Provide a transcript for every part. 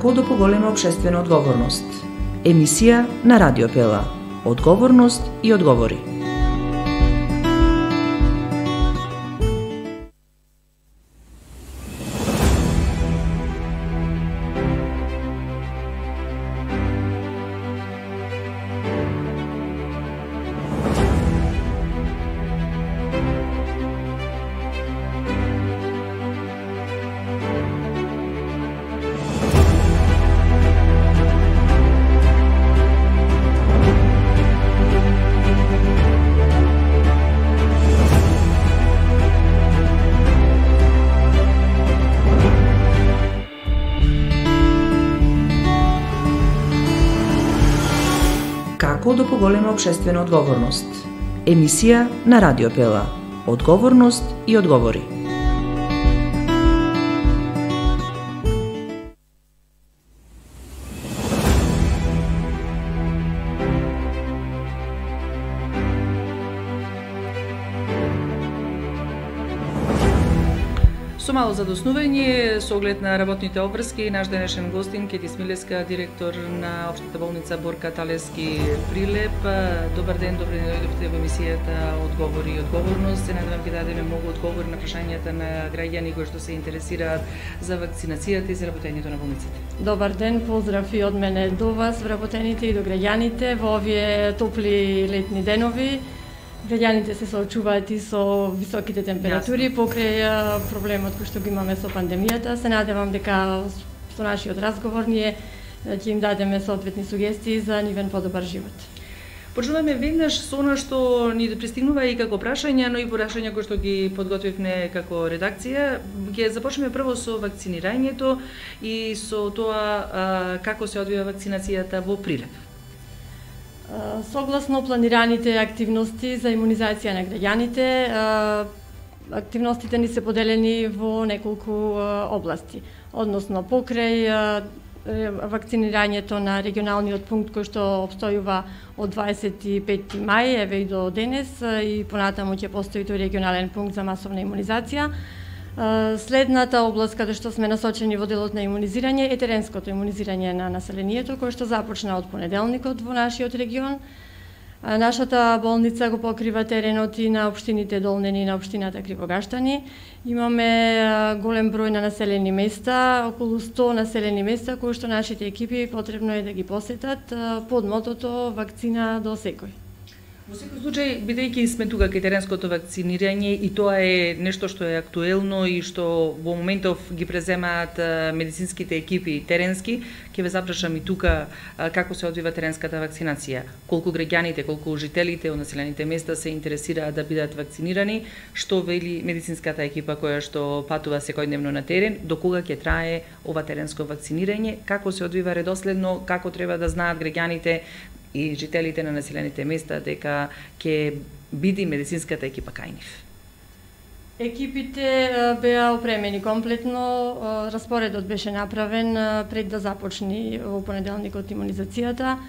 Како да поголема општествена одговорност? Емисија на Радио Пела. Одговорност и одговори. Како да поголема општествена одговорност? Емисија на Радио Пела. Одговорност и одговори. Со мало задоснување, со оглед на работните обврски, наш денешен гостин Кети Смилевска, директор на Општата болница Борка Талевски Прилеп. Добар ден, добре дојдовте во емисијата Одговори и одговорност. Се надевам ќе дадеме многу одговори на прашањата на граѓани кои што се интересираат за вакцинацијата и за работењето на болниците. Добар ден, поздрав и од мене до вас, вработените и до граѓаните во овие топли летни денови. Граѓаните се соочуваат и со високите температури покрај проблемот кој што го имаме со пандемијата. Се надевам дека со нашиот разговор ние ќе им дадеме соодветни сугестии за нивен подобар живот. Почнуваме веднаш со она што ни пристигнува и како прашања, но и прашања кои што ги подготвивме како редакција. Ќе започнеме прво со вакцинирањето и со тоа како се одвива вакцинацијата во Прилеп. Согласно планираните активности за имунизација на граѓаните, активностите ни се поделени во неколку области, односно покрај вакцинирањето на регионалниот пункт кој што обстојува од 25 мај, еве и до денес, и понатаму ќе постои тој регионален пункт за масовна имунизација. Следната област каде што сме насочени во делот на имунизирање е теренското имунизирање на населението, кое што започна од понеделникот во нашиот регион. Нашата болница го покрива теренот и на општините Долнени и на општината Кривогаштани. Имаме голем број на населени места, околу 100 населени места кои што нашите екипи потребно е да ги посетат под мотото вакцина до секој. Во секој случај, бидејќи сме тука кај теренското вакцинирање и тоа е нешто што е актуелно и што во моментов ги преземаат медицинските екипи теренски, ќе ве запрашам и тука како се одвива теренската вакцинација. Колку граѓаните, колку жителите од населените места се интересираат да бидат вакцинирани, што вели медицинската екипа која што патува секојдневно на терен, до кога ќе трае ова теренско вакцинирање, како се одвива редоследно, како треба да знаат граѓаните и жителите на населените места дека ќе биде медицинската екипа кај нив. Екипите беа опремени комплетно, распоредот беше направен пред да започне во понеделникот имунизацијата.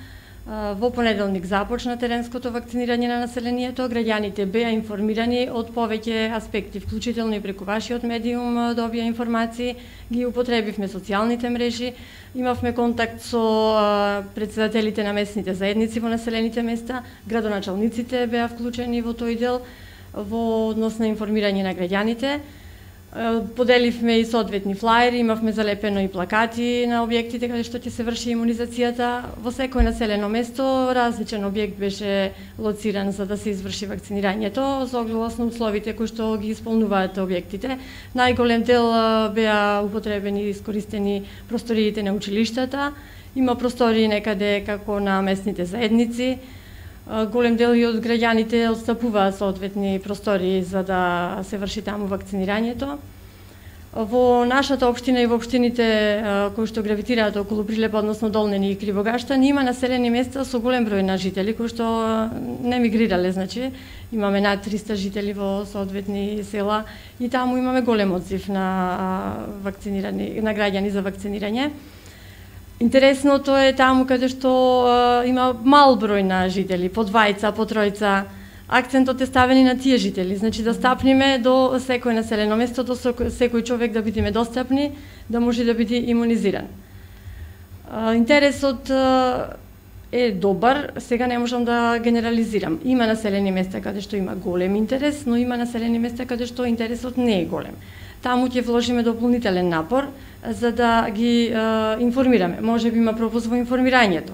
Во понеделник започна теренското вакцинирање на населението, граѓаните беа информирани од повеќе аспекти, вклучително и преку вашиот медиум добија информации, ги употребивме социјалните мрежи, имавме контакт со претседателите на местните заедници во населените места, градоначалниците беа вклучени во тој дел во однос на информирање на граѓаните. Поделивме и соодветни флаери, имавме залепено и плакати на објектите каде што ќе се врши имунизацијата. Во секој населено место различен објект беше лоциран за да се изврши вакцинирањето, согласно условите кои што ги исполнуваат објектите. Најголем дел беа употребени и искористени просториите на училиштата. Има простории некаде како на местните заедници. Голем дел и од граѓаните отстапуваат соодветни простории за да се врши таму вакцинирањето. Во нашата општина и во општините кои што гравитираат околу Прилеп, односно Долнени и Кривогаштани, има населени места со голем број на жители кои што не мигрирале, значи имаме над 300 жители во соодветни села и таму имаме голем одзив на вакцинирани на граѓани за вакцинирање. Интересното е таму каде што има мал број на жители, по двајца, по тројца, акцентот е ставен и на тие жители, значи да стапниме до секој населено место, до секој човек да бидеме достапни, да може да биде имунизиран. Интересот е добар, сега не можам да генерализирам. Има населени места каде што има голем интерес, но има населени места каде што интересот не е голем. Таму ќе вложиме дополнителен напор за да ги информираме. Можеби има пропуск во информирањето.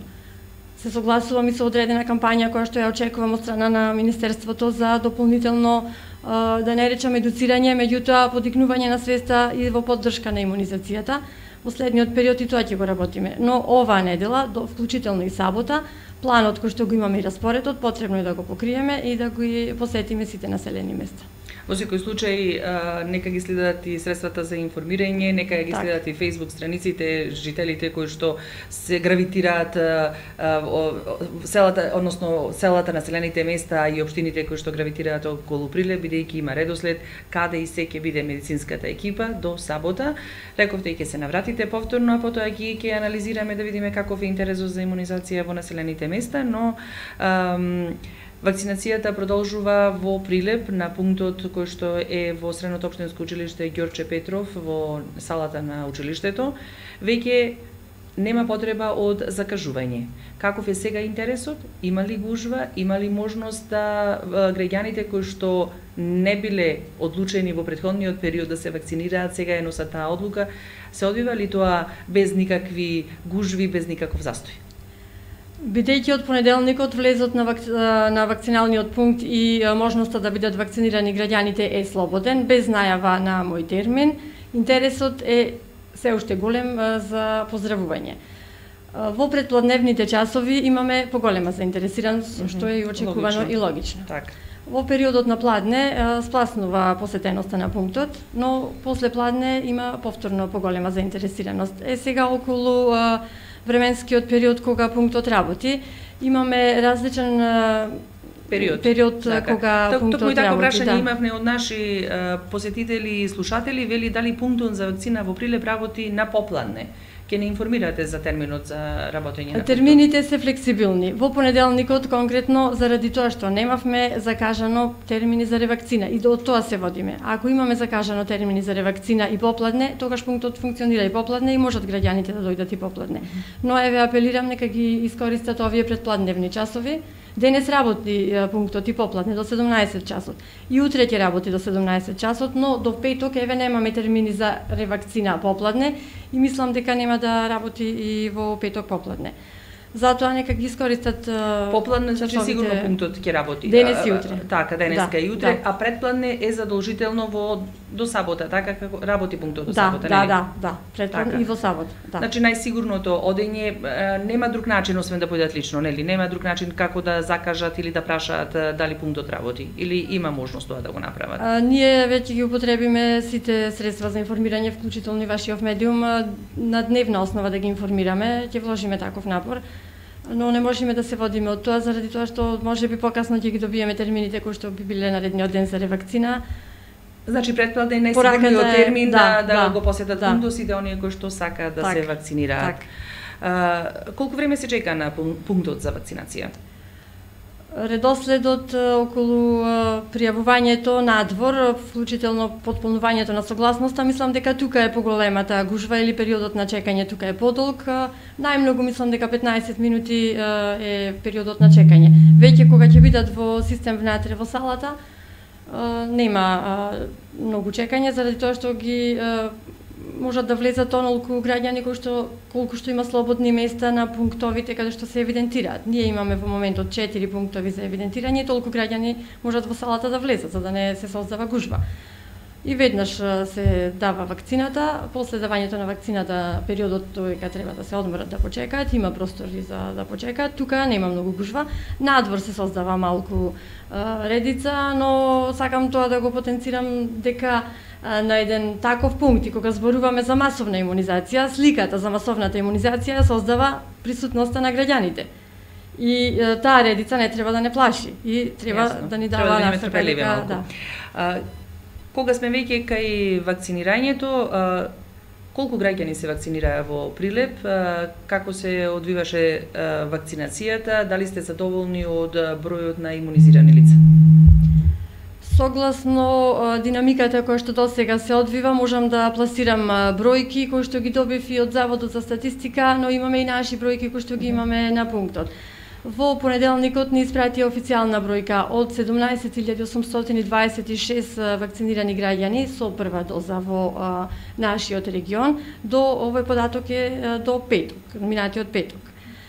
Се согласувам и со одредена кампања која што ја очекувам од страна на Министерството за дополнително, да не речам едуцирање, меѓутоа подигнување на свеста и во поддршка на имунизацијата. Во следниот период и тоа ќе го работиме. Но оваа недела, вклучително и сабота, планот кој што го имаме и распоредот, потребно е да го покриеме и да го посетиме сите населени места. Во секој случај, нека ги следат и средствата за информирање, нека ги следат и Facebook страниците, жителите кои што се гравитираат селата, односно селата, населените места и општините кои што гравитираат околу Прилеп, бидејќи има редослед каде и се ќе биде медицинската екипа до сабота. Рековте и ќе се навратите повторно, а потоа ќе анализираме да видиме каков е интересот за имунизација во населените места, но вакцинацијата продолжува во Прилеп на пунктот кој што е во Средното општинско училиште Ѓорче Петров во салата на училиштето. Веќе нема потреба од закажување. Каков е сега интересот? Има ли гужва? Има ли можност да граѓаните кои што не биле одлучени во претходниот период да се вакцинираат, сега е носат таа одлука? Се одвива ли тоа без никакви гужви, без никаков застој? Бидејќи од понеделникот влезот на вакциналниот пункт и можноста да бидат вакцинирани граѓаните е слободен, без најава на мој термин, интересот е се уште голем за поздравување. Во предпладневните часови имаме поголема заинтересираност, што е и очекувано и логично. Так. Во периодот на пладне спласнува посетеноста на пунктот, но после пладне има повторно поголема заинтересираност. Сега околу временскиот период кога пунктот работи, имаме различен период кога пунктот работи. Токму и тако прашање имавме од наши посетители и слушатели, вели дали пунктот за вакцина во Прилеп работи на попладне. Ке не информирате за терминот за работење на термините се флексибилни. Во понеделникот конкретно заради тоа што немавме закажано термини за ревакцина и од тоа се водиме. Ако имаме закажано термини за ревакцина и попладне, тогаш пунктот функционира и попладне и можат граѓаните да дојдат и попладне. Но еве апелирам нека ги искористат овие предпладневни часови. Денес работи пунктот и попладне до 17 часот. И утре ќе работи до 17 часот, но до петок еве немаме термини за ревакцина попладне и мислам дека нема да работи и во петок попладне. Затоа нека ги искористат попладне, значи сигурно пунктот ќе работи. Денес и утре. Така, денеска и утре, а предпладне е задолжително до сабота, така како работи пунктот до сабота, нели? Да, предпладне така. И во сабота, да. Значи најсигурното одење нема друг начин освен да појдат лично, нели? Нема друг начин како да закажат или да прашаат дали пунктот работи или има можност тоа да го направат. Ние веќе ги употребиме сите средства за информирање, вклучително и вашиот медиум, на дневна основа да ги информираме, ќе вложиме таков напор. Но не можеме да се водиме од тоа заради тоа што можеби покасно ќе ги добиеме термините кои што би биле наредниот ден за ревакцина. Значи предпладне е најсигурниот термин да го посетат пунктот сите оние кои што сакаат да се вакцинираат. Колку време се чека на пунктот за вакцинација? Редоследот околу пријавувањето надвор, вклучително потполнувањето на согласноста, мислам дека тука е поголемата гужва или периодот на чекање тука е подолг. Најмногу мислам дека 15 минути е периодот на чекање. Веќе кога ќе бидат во систем внатре во салата, нема многу чекање заради тоа што ги можат да влезат онолку граѓани колку што има слободни места на пунктовите каде што се евидентираат. Ние имаме во моментот 4 пунктови за евидентирање и толку граѓани можат во салата да влезат за да не се создава гужва. И веднаш се дава вакцината, после давањето на вакцината периодот кога треба да се одморат да почекаат, има простори за да почекаат, тука нема многу гужва. Надвор се создава малку редица, но сакам тоа да го потенцирам дека на еден таков пункт и кога зборуваме за масовна имунизација, сликата за масовната имунизација создава присутноста на граѓаните. И таа редица не треба да не плаши и треба да ни дава настрпелива. Кога сме веќе кај вакцинирањето, колку граѓани се вакцинираа во Прилеп, како се одвиваше вакцинацијата, дали сте задоволни од бројот на имунизирани лица? Согласно динамиката која што досега се одвива, можам да пласирам бројки кои што ги добив и од Заводот за статистика, но имаме и наши бројки кои што ги имаме на пунктот. Во понеделникот ни испратија официјална бројка од 17.826 вакцинирани граѓани со прва доза во нашиот регион. До овој податок е до петок, минатиот петок.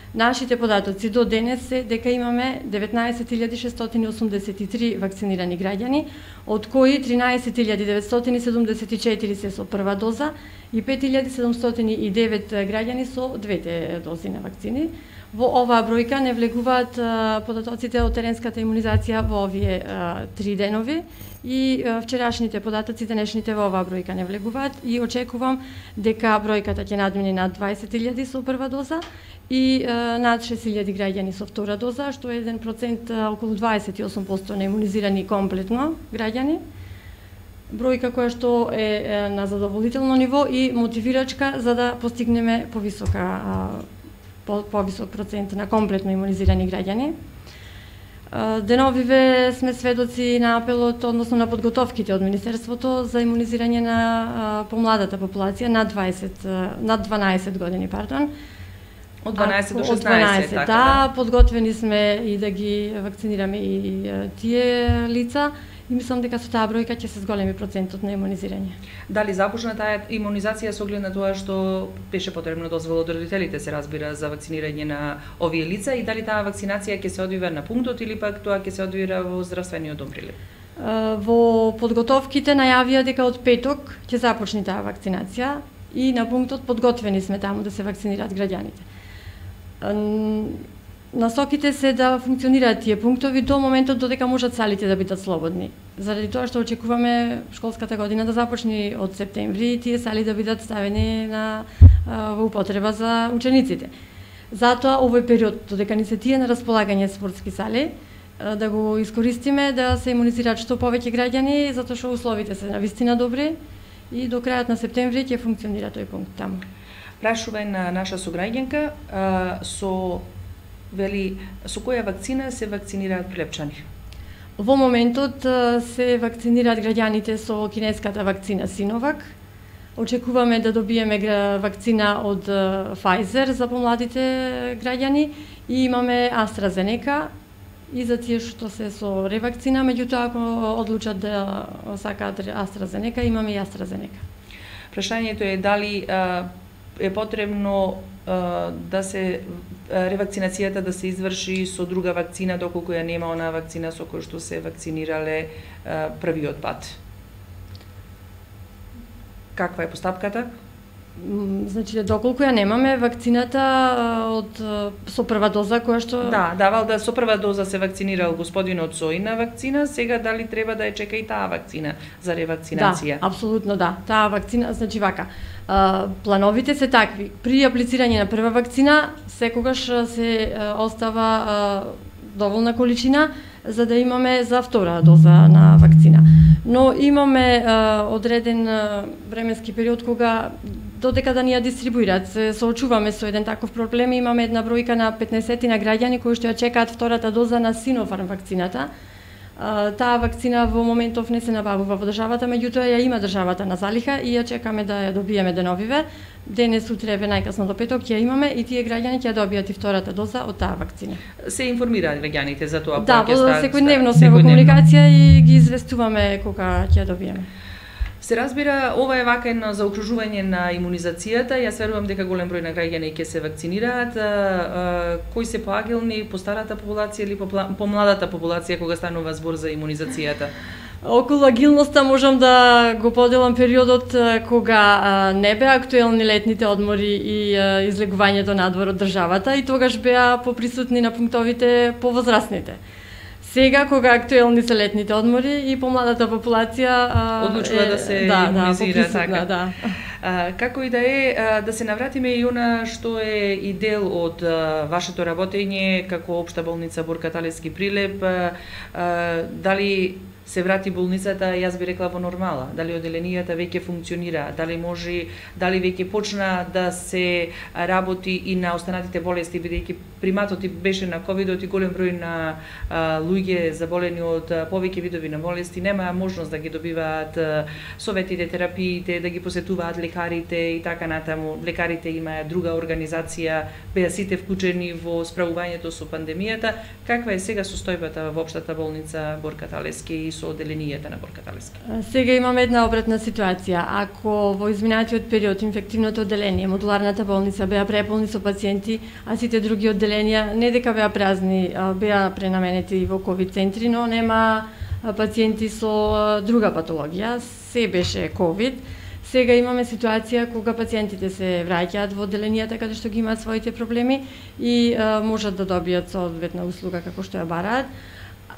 Нашите податоци до денес се дека имаме 19.683 вакцинирани граѓани, од кои 13.974 се со прва доза и 5.709 граѓани со двете дози на вакцини. Во оваа бројка не влегуваат податоците од теренската имунизација во овие 3 денови и вчерашните податоци, денешните во оваа бројка не влегуваат и очекувам дека бројката ќе надмине над 20.000 со прва доза и над 6.000 граѓани со втора доза, што е 1%, околу 28% на имунизирани комплетно граѓани. Бројка која што е на задоволително ниво и мотивирачка за да постигнеме повисок процент на комплетно имунизирани граѓани. Деновиве сме сведоци на апелот, односно на подготовките од Министерството за имунизирање на помладата популација над 12 години, пардон. Од 12 до 16, така да. Подготвени сме и да ги вакцинираме и тие лица. И мислам дека со таа бројка ќе се зголеми процентот на имунизирање. Дали започна таа имунизација со оглед на тоа што беше потребно дозвола од родителите, се разбира, за вакцинирање на овие лица и дали таа вакцинација ќе се одвива на пунктот или пак тоа ќе се одвира во здравствениот дом Прилеп? Во подготовките најавија дека од петок ќе започне таа вакцинација и на пунктот подготвени сме таму да се вакцинираат граѓаните. Насоките се да функционираат тие пунктови до моментот додека можат салите да бидат слободни. Заради тоа што очекуваме школската година да започне од септември и тие сали да бидат ставени во употреба за учениците. Затоа овој период додека ни се тие на располагање спортски сали, да го искористиме да се имунизираат што повеќе граѓани, затоа што условите се навистина добри и до крајот на септември ќе функционира тој пункт таму. Прашува на наша сограѓанка со која вакцина се вакцинираат прилепчани? Во моментот се вакцинираат граѓаните со кинеската вакцина Синовак. Очекуваме да добиеме вакцина од Pfizer за помладите граѓани и имаме AstraZeneca и за тие што се со ревакцина, меѓутоа ако одлучат да сакаат AstraZeneca, имаме и AstraZeneca. Прашањето е дали е потребно да се ревакцинацијата да се изврши со друга вакцина доколку ја нема онаа вакцина со која што се вакцинирале првиот пат. Каква е постапката? Значи, доколку ја немаме вакцината со прва доза која што... Да, давал да со прва доза се вакцинирал господинот со една вакцина, сега дали треба да ја чека и таа вакцина за ревакцинација? Да, апсолутно да. Таа вакцина, значи вака, плановите се такви. При аплицирање на прва вакцина, секогаш се остава доволна количина за да имаме за втора доза на вакцина. Но имаме одреден временски период кога додека да ни ја дистрибуираат, се соочуваме со еден таков проблем, имаме една бројка на 15 на граѓани кои што ја чекаат втората доза на Sinopharm вакцината. Таа вакцина во моментов не се набавува во државата, меѓутоа ја има државата на залиха и ја чекаме да ја добиеме деновиве. Денес, утре, најкасно до петок ќе имаме и тие граѓани ќе ја добијат и втората доза од таа вакцина. Се информираат граѓаните за тоа? Да, секојдневно сме во комуникација и ги известуваме кога ќе ја добиеме. Се разбира, ова е вака едно заокружување на имунизацијата. Јас верувам дека голем број на граѓани ќе се вакцинираат. Кои се поагилни, по старата популација или по младата популација кога станува збор за имунизацијата? Околу агилноста можам да го поделам периодот кога не беа актуелни летните одмори и излегувањето надвор од државата и тогаш беа поприсутни на пунктовите повозрастните. Сега, кога актуелни се летните одмори и помладата популација одлучува да се имунизира, така. Да. Како и да е, да се навратиме и она што е и дел од вашето работење како општа болница Борка Талевски Прилеп, дали се врати болницата, јас би рекла во нормала, дали одделенијата веќе функционира, дали веќе почна да се работи и на останатите болести, бидејќи приматот беше на ковидот и голем број на луѓе заболени од повеќе видови на болести немаа можност да ги добиваат советите, терапиите, да ги посетуваат лекарите и така натаму. Лекарите имаат друга организација, беа сите вклучени во справувањето со пандемијата. Каква е сега состојбата во општата болница Борка Талески и со одделенијата на Борка Талески? Сега имаме една обратна ситуација. Ако во изминатиот период инфективното одделение, модуларната болница беа преполни со пациенти, а сите други одделенија не дека беа празни, беа пренаменети во ковид центри, но нема пациенти со друга патологија, се беше ковид. Сега имаме ситуација кога пациентите се враќаат во одделенијата каде што ги имаат своите проблеми и можат да добијат соодветна услуга како што ја бараат.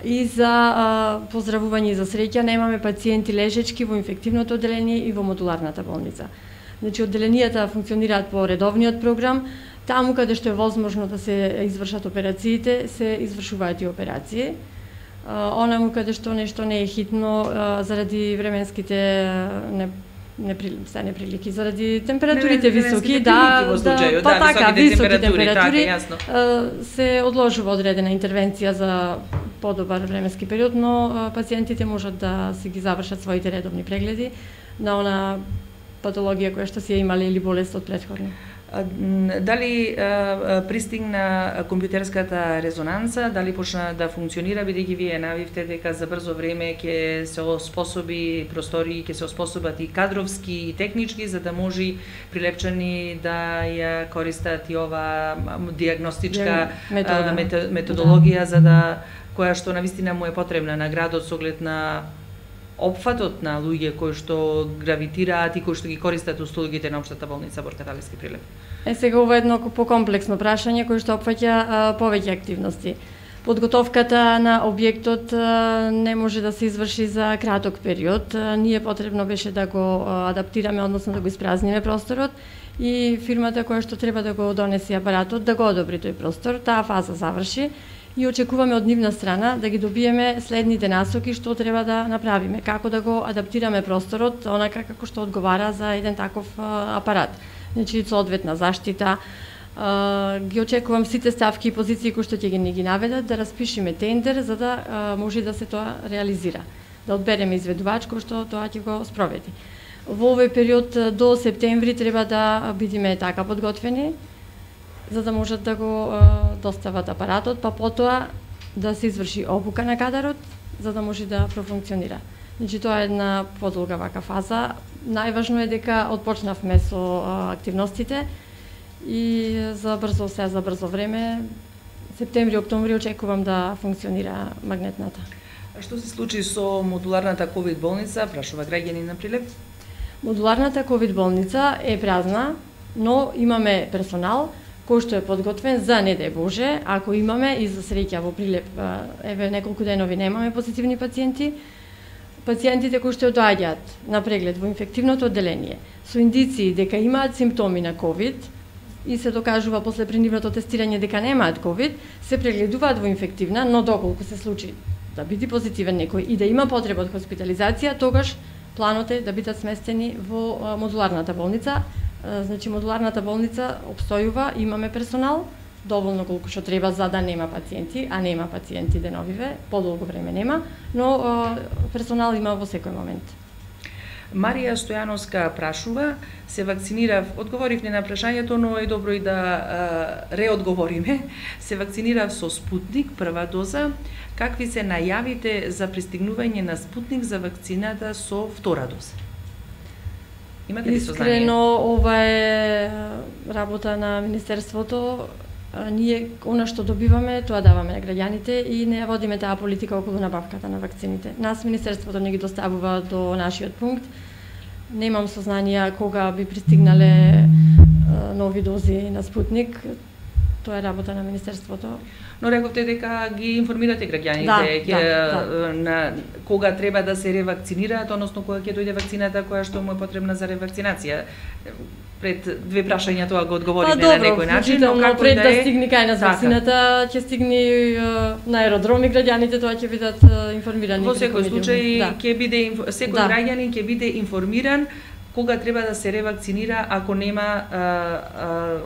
И за поздравување и за среќа немаме пациенти лежечки во инфективното одделение и во модуларната болница. Значи одделенијата функционираат по редовниот програм, таму каде што е возможно да се извршат операциите, се извршуваат и операции. Онаму каде што нешто не е хитно заради временските неприлики, заради температурите високи, високи температури, се одложува одредена интервенција за подобар временски период, но пациентите можат да си ги завршат своите редовни прегледи на она патологија која што си ја имале или болест од претходно. Дали пристигна компјутерската резонанца, дали почна да функционира, бидејќи вие навивте дека за брзо време ќе се оспособи простори, ќе се оспособат и кадровски и технички, за да може прилепчани да ја користат и ова диагностичка методологија, за да која што навистина му е потребна на градот со оглед на опфатот на луѓе кои што гравитираат и кои што ги користат услугите на општата болница Борка Талески Прилеп? Сега ова е едно покомплексно прашање кој што опфаќа повеќе активности. Подготовката на објектот не може да се изврши за краток период. Ние потребно беше да го адаптираме, односно да го испразниме просторот и фирмата која што треба да го донесе апаратот да го одобри тој простор. Таа фаза заврши и очекуваме од нивна страна да ги добиеме следните насоки што треба да направиме, како да го адаптираме просторот онака како што одговара за еден таков апарат. Значи соодветна заштита. Ги очекувам сите ставки и позиции кои што ќе ги наведат, да распишеме тендер за да може да се тоа реализира. Да одбереме изведувач кој што тоа ќе го спроведи. Во овој период до септември треба да бидеме така подготвени за да можат да го достават апаратот, па потоа да се изврши обука на кадарот, за да може да профункционира. Значи тоа е една подолга вака фаза. Најважно е дека отпочнавме со активностите и за брзо време, септември, октомври очекувам да функционира магнетната. А што се случи со модуларната ковид болница, прашува граѓанин на Прилеп? Модуларната ковид болница е празна, но имаме персонал кој што е подготвен за не дај Боже, ако имаме и за среќа во Прилеп, еве неколку денови немаме позитивни пациенти. Пациентите кои што доаѓаат на преглед во инфективното одделение со индиции дека имаат симптоми на ковид и се докажува после принудното тестирање дека немаат ковид, се прегледуваат во инфективна, но доколку се случи да биде позитивен некој и да има потреба од хоспитализација, тогаш планот е да бидат сместени во модуларната болница. Значи модуларната болница обстојува, имаме персонал, доволно колку што треба за да нема пациенти, а нема пациенти деновиве, подолго време нема, но персонал има во секој момент. Марија Стојановска прашува, се вакцинирав, одговорив не на прашањето, но е добро и да реодговориме. Се вакцинирав со Спутник, прва доза. Какви се најавите за пристигнување на Спутник за вакцината со втора доза? Имате ли сознание? Искрено, ова е работа на Министерството. Ние, она што добиваме, тоа даваме на граѓаните и не водиме таа политика околу набавката на вакцините. Нас Министерството не ги доставува до нашиот пункт. Немам сознание кога би пристигнале нови дози на Спутник. тоа е работа на Министерството. Но рековте дека ги информирате граѓаните на кога треба да се ревакцинираат, односно кога ќе дојде вакцината која што му е потребна за ревакцинација. Пред две прашања тоа го одговориме на некој начин, но како пред да стигне кај нас вакцината, ќе стигне на аеродроми граѓаните, тоа ќе бидат информирани. Во секој случај ќе биде секој граѓанин ќе биде информиран кога треба да се ревакцинира ако нема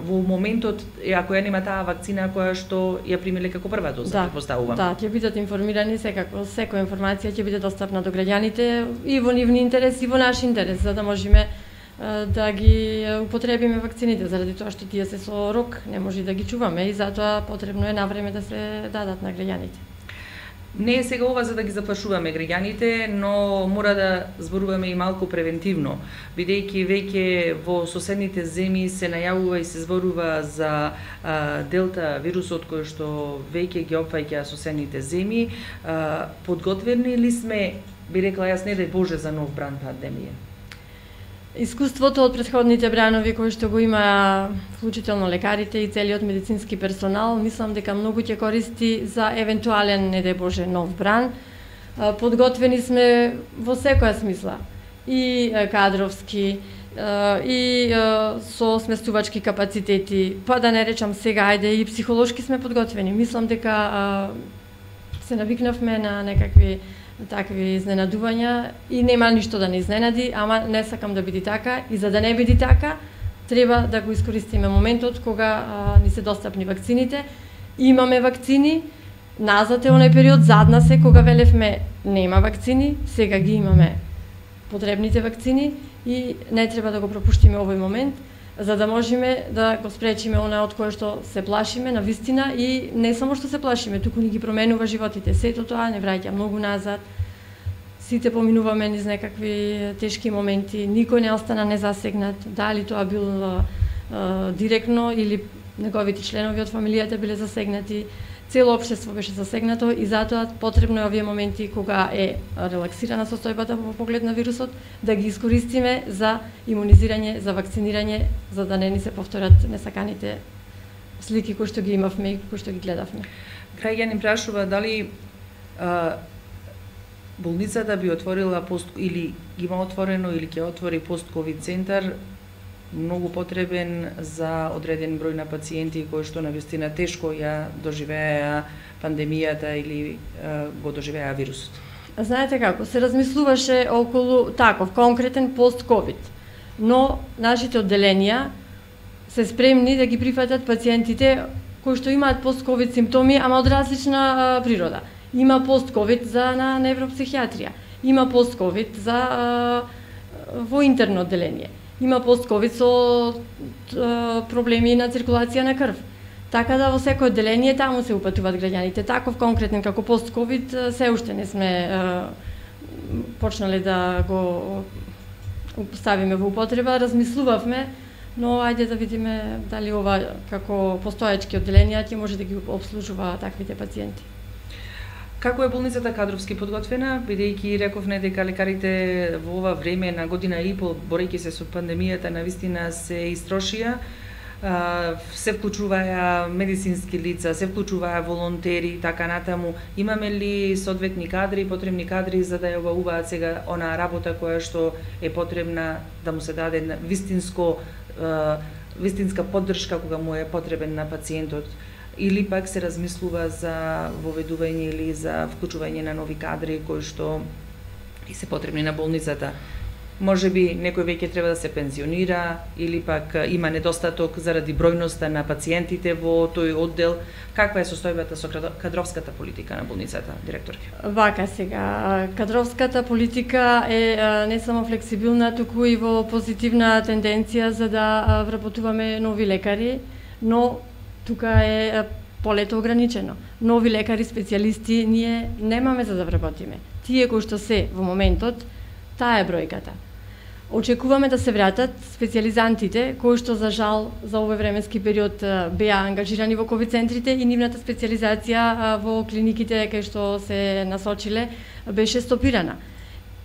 во моментот ако ја нема таа вакцина која што ја примиле како прва доза, претпоставувам. Да, ќе бидат информирани секако, секоја информација ќе биде достапна до граѓаните и во нивни интерес и во наш интерес, за да можеме да ги употребиме вакцините, заради тоа што тие се со рок, не може да ги чуваме и затоа потребно е на време да се дадат на граѓаните. Не е сега ова за да ги заплашуваме граѓаните, но мора да зборуваме и малку превентивно, бидејќи веќе во соседните земји се најавува и се зборува за делта вирусот кој што веќе ги опфаќа соседните земји. Подготвени ли сме, би рекла јас, не дај Боже, за нов бран пандемија? Искуството од претходните бранови кои што го има вклучително лекарите и целиот медицински персонал, мислам дека многу ќе користи за евентуален, не дај Боже, нов бран. Подготвени сме во секоја смисла, и кадровски, и со сместувачки капацитети, па да не речам сега, ајде, и психолошки сме подготвени. Мислам дека се навикнавме на некакви такви изненадувања и нема ништо да не изненади, ама не сакам да биде така и за да не биде така, треба да го искористиме моментот кога ни се достапни вакцините. Имаме вакцини, назад е оној период, зад нас е кога велевме нема вакцини, сега ги имаме потребните вакцини и не треба да го пропуштиме овој момент, за да можеме да го спречиме она од кое што се плашиме на вистина и не само што се плашиме, туку ни ги променува животите. Сето тоа не враќа многу назад. Сите поминуваме низ некакви тешки моменти, никој не остана незасегнат, дали тоа бил директно или неговите членови од фамилијата биле засегнати. Цело општество беше засегнато и затоа потребно е овие моменти кога е релаксирана состојбата во поглед на вирусот да ги искористиме за имунизирање, за вакцинирање, за да не ни се повторат несаканите слики кои што ги имавме и кои што ги гледавме. Граѓанин прашува дали болницата би отворила или има отворено или ќе отвори пост-ковид центар многу потребен за одреден број на пациенти кои што навистина тешко ја доживеа пандемијата или го доживеа вирусот. Знаете како, се размислуваше околу таков конкретен пост-ковид, но нашите одделенија се спремни да ги прифатат пациентите кои што имаат пост-ковид симптоми, ама од различна природа. Има пост-ковид за на невропсихијатрија, има пост-ковид за во интерно одделение. Има пост-ковид со проблеми на циркулација на крв. Така да во секој одделение таму се упатуваат граѓаните. Таков конкретен како пост-ковид се уште не сме почнале да го ставиме во употреба. Размислувавме, но ајде да видиме дали ова како постоечки одделенија ќе може да ги обслужува таквите пациенти. Како е болницата кадровски подготвена, бидејќи рековме дека лекарите во ова време на година и пол, борејќи се со пандемијата, навистина се истрошија, се вклучуваја медицински лица, се вклучуваја волонтери и така натаму. Имаме ли соодветни кадри, потребни кадри за да ја обавуваат сега онаа работа која што е потребна да му се даде вистинска поддршка кога му е потребен на пациентот? Или пак се размислува за воведување или за вклучување на нови кадри кои што и се потребни на болницата? Може би некој веќе треба да се пензионира или пак има недостаток заради бројноста на пациентите во тој оддел. Каква е состојбата со кадровската политика на болницата, директорке? Вака сега, кадровската политика е не само флексибилна, туку и во позитивна тенденција за да вработуваме нови лекари, но тука е полето ограничено. Нови лекари, специјалисти, ние немаме за да вработиме. Тие кои што се во моментот, таа е бројката. Очекуваме да се вратат специјализантите кои што за жал за овој временски период беа ангажирани во ковид центрите и нивната специјализација во клиниките кај што се насочиле беше стопирана.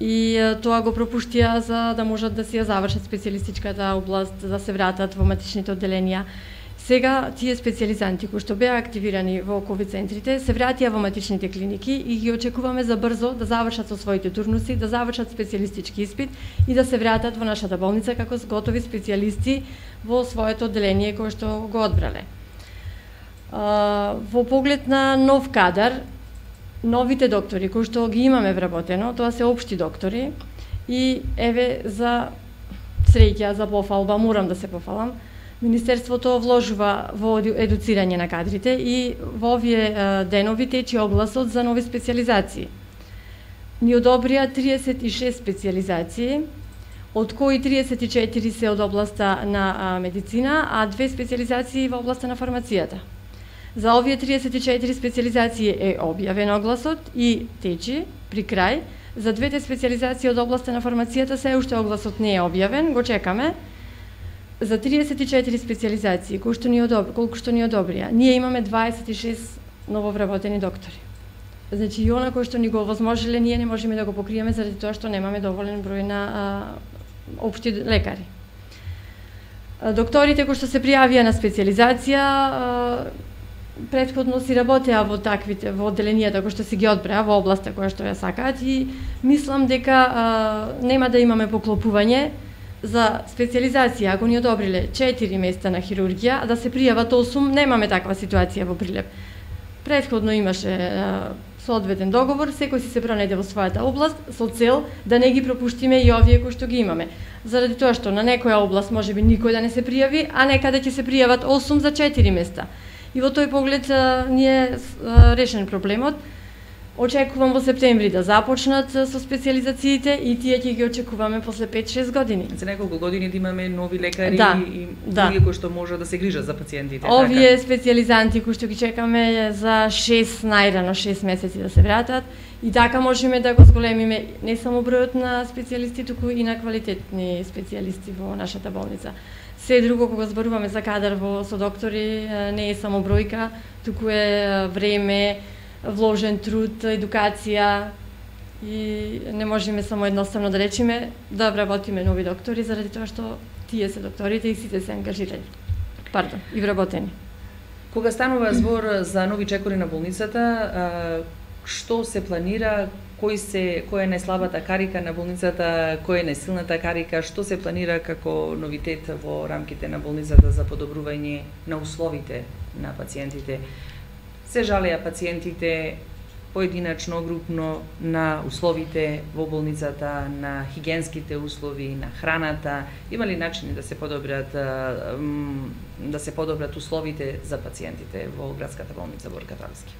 И тоа го пропуштија за да можат да си ја завршат специјалистичката област, да се вратат во матичните одделенија. Сега тие специјализанти кои што беа активирани во ковид центрите се вратија во матичните клиники и ги очекуваме за брзо да завршат со своите турнуси, да завршат специјалистички испит и да се вратат во нашата болница како готови специјалисти во своето одделение кое што го одбрале. Во поглед на нов кадар, новите доктори кои што ги имаме вработено, тоа се општи доктори и еве за среќа, за пофалба, морам да се пофалам, Министерството вложува во едуцирање на кадрите и во овие денови тече огласот за нови специјализации. Ни одобрија 36 специјализации, од кои 34 се од областа на медицина, а 2 специјализации во областа на фармацијата. За овие 34 специјализации е објавен огласот и тече при крај. За двете специјализации од областа на фармацијата се уште огласот не е објавен, го чекаме. За 34 специјализации колку што ни одобрија, ние имаме 26 нововработени доктори. Значи и она кој што ни го овозможиле, ние не можеме да го покриеме заради тоа што немаме доволен број на општи лекари. Докторите кои што се пријавија на специјализација претходно си работеа во одделенијата кои што си ги одбраа во областа која што ја сакаат и мислам дека нема да имаме поклопување за специјализација. Ако ни одобриле 4 места на хирургија, да се пријават 8, немаме таква ситуација во Прилеп. Претходно имаше соодветен договор, секој си се пронајде во својата област со цел да не ги пропуштиме и овие кои што ги имаме. Заради тоа што на некоја област можеби никој да не се пријави, а некаде ќе се пријават 8 за 4 места. И во тој поглед ни е решен проблемот. Очекувам во септември да започнат со специјализациите и тие ќе ги очекуваме после 5-6 години. За неколку години да имаме нови лекари и други кои што може да се грижат за пациентите. Овие специјализанти кои што ги чекаме за 6 најрано 6 месеци да се вратат и така можеме да го зголемиме не само бројот на специјалисти, туку и на квалитетни специјалисти во нашата болница. Се друго кога зборуваме за кадар со доктори не е само бројка, туку е време, вложен труд, едукација и не можеме само едноставно да речеме да вработиме нови доктори заради тоа што тие се докторите и сите се ангажирани. И вработени. Кога станува збор за нови чекори на болницата, што се планира, која е најслабата карика на болницата, која е најсилната карика, што се планира како новитет во рамките на болницата за подобрување на условите на пациентите? Се жалеа пациентите поединачно, групно на условите во болницата, на хигиенските услови, на храната. Има ли начини да се подобрат условите за пациентите во градската болница Борка Талски?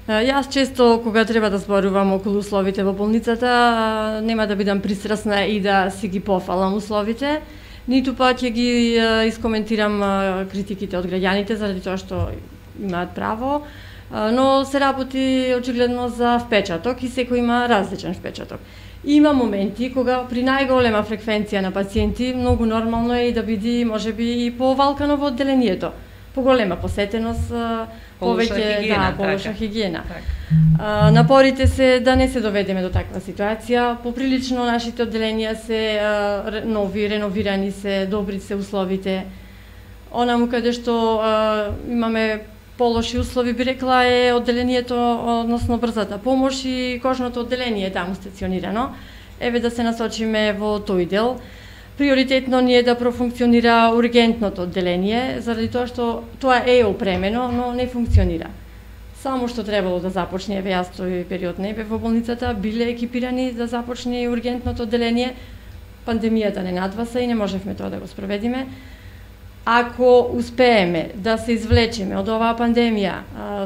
Јас често кога треба да зборувам околу условите во болницата, нема да бидам пристрасна и да си ги пофалам условите, ниту па ќе ги искоментирам критиките од граѓаните заради тоа што имаат право, но се работи очигледно за впечаток и секој има различен впечаток. Има моменти кога при најголема фреквенција на пациенти многу нормално е и да биде можеби и повалкано во одделението. Поголема посетеност, полоша хигиена. Напорите се да не се доведеме до таква ситуација. Поприлично нашите одделенија се нови, реновирани се, добри се условите. Онаму каде што имаме полоши услови, би рекла, е одделението, односно брзата помош и кожното одделение е таму стационирано. Еве да се насочиме во тој дел. Приоритетно ни е да профункционира ургентното одделение, заради тоа што тоа е опремено, но не функционира. Само што требало да започне, еве јас тој период не бев во болницата, биле екипирани да започне ургентното одделение. Пандемијата не надваса и не можевме тоа да го спроведиме. Ако успееме да се извлечеме од оваа пандемија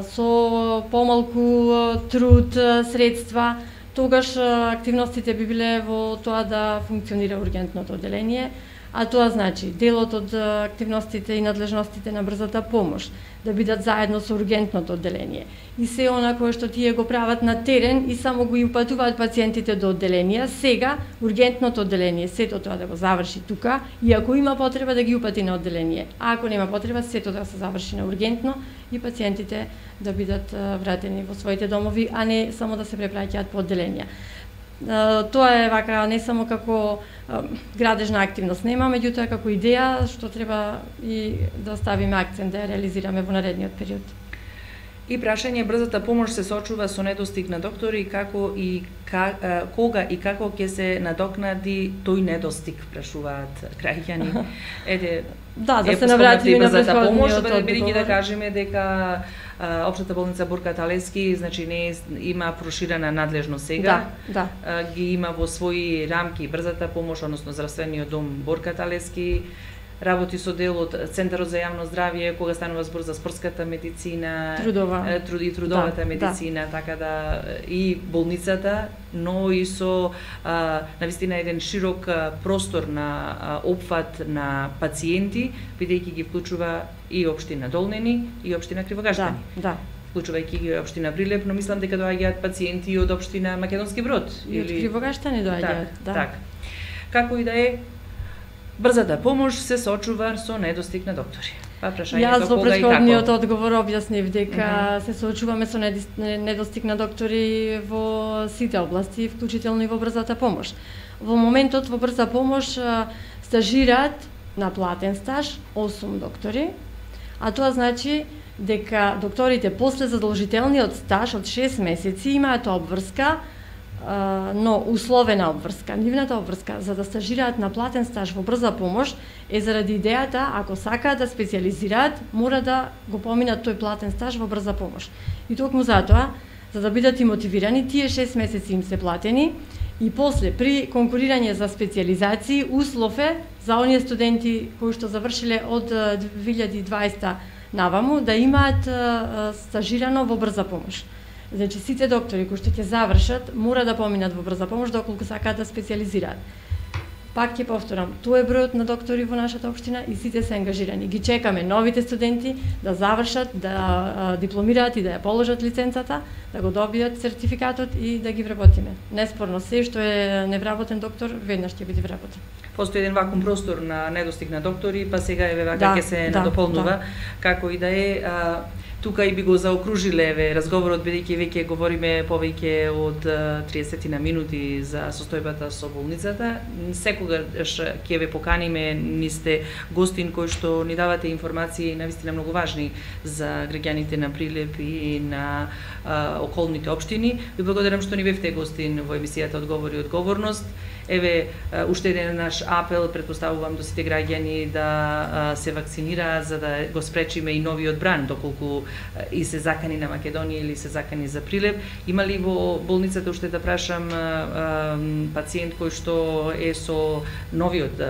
со помалку труд, средства, тогаш активностите би биле во тоа да функционира ургентното одделение, а тоа значи делот од активностите и надлежностите на брзата помош да бидат заедно со ургентното одделение и се она кое што тие го прават на терен и само го упатуваат пациентите до одделенија, сега ургентното одделение сето тоа да го заврши тука и ако има потреба да ги упати на одделение, а ако нема потреба сето да се заврши на ургентно и пациентите да бидат вратени во своите домови, а не само да се препраќаат по одделенија. Тоа е вака не само како градежна активност нема, меѓутоа како идеја што треба и да ставиме акцент да ја реализираме во наредниот период. И прашање, брзата помош се сочува со недостиг на доктори, како и кога и како ќе се надокнади тој недостиг, прашуваат граѓани. Ете, да се навратиме на помош, бидејќи да кажеме дека Општата болница Борка Талевски, значи не има проширена надлежност сега. Да. Ги има во своји рамки брзата помош, односно здравствениот дом Борка Талевски. Работи со дел од Центарот за јавно здравје, кога станува збор за спортската медицина, трудовата медицина, така да и болницата, но и со навистина еден широк простор на опфат на пациенти, бидејќи ги вклучува и општина Долнени и општина Кривогаштани. Да. Вклучувајќи ги општина Прилеп, но мислам дека доаѓаат пациенти од општина Македонски Брод и од Кривогаштани доаѓаат, Так. Како и да е, брзата помош се соочува со недостиг на доктори. Па прашањето Јас во кога и како? претходниот одговор објаснив дека се соочуваме со недостиг на доктори во сите области, вклучително и во брзата помош. Во моментот во брза помош стажираат на платен стаж 8 доктори, а тоа значи дека докторите после задолжителниот стаж од 6 месеци имаат обврска, но условена обврска. Нивната обврска за да стажираат на платен стаж во брза помош е заради идејата, ако сакаат да специјализираат, мора да го поминат тој платен стаж во брза помош. И токму затоа, за да бидат и мотивирани, тие 6 месеци им се платени и после при конкурирање за специјализации услов е за оние студенти кои што завршиле од 2020 наваму да имаат стажирано во брза помош. Значи сите доктори кои што ќе завршат мора да поминат во брза помош доколку сакаат да специјализираат. Пак ќе повторам, тоа е бројот на доктори во нашата општина и сите се ангажирани. Ги чекаме новите студенти да завршат, да дипломираат и да ја положат лиценцата, да го добијат сертификатот и да ги вработиме. Неспорно се што е невработен доктор веднаш ќе биде вработен. Постои еден вакуум простор на недостиг на доктори, па сега еве вака ќе се надополнува, како и да е. Тука и би го заокружиле разговорот, бидејќи веќе говориме повеќе од 30 на минути за состојбата со болницата. Секогаш ќе ве поканиме, ни сте гостин кој што ни давате информации навистина многу важни за граѓаните на Прилеп и на околните општини. Ви благодарам што ни бевте гостин во емисијата Одговори и одговорност. Еве, уште еден наш апел, предпоставувам до сите граѓани да се вакцинираат за да го спречиме и новиот бран, доколку и се закани на Македонија или се закани за Прилеп. Има ли во болницата, уште да прашам, пациент кој што е со новиот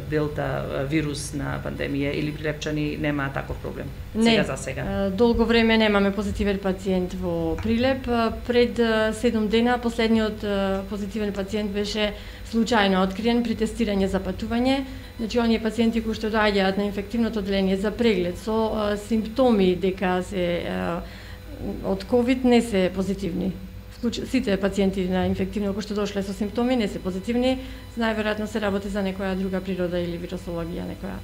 делта вирус на пандемија или прилепчани нема таков проблем? Не, за сега. Долго време немаме позитивен пациент во Прилеп. Пред 7 дена последниот позитивен пациент беше случајно откриен при тестирање за патување. Значи, оние пациенти кои што доаѓаат на инфективното одделение за преглед со симптоми дека се од COVID не се позитивни. Сите пациенти на инфективно кои што дошле со симптоми не се позитивни, најверојатно се работи за некоја друга природа или вирусологија, некоја.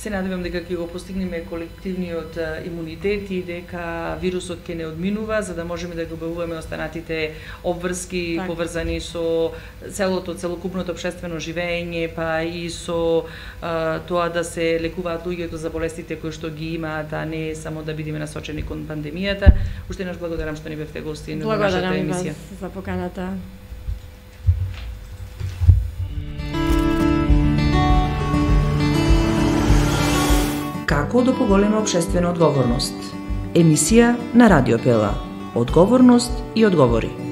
Се надевам дека ќе го постигнеме колективниот имунитет и дека вирусот ќе не одминува, за да можеме да го објавуваме останатите обврски поврзани со целокупното општествено живење, па и со тоа да се лекуваат луѓето за болестите кои што ги имаат, а не само да бидеме насочени кон пандемијата. Уште еднаш благодарам што ни бевте гостин во нашата емисија. Благодарам вас за поканата. Како да поголеме општествена одговорност? Емисија на Радио Пела. Одговорност и одговори.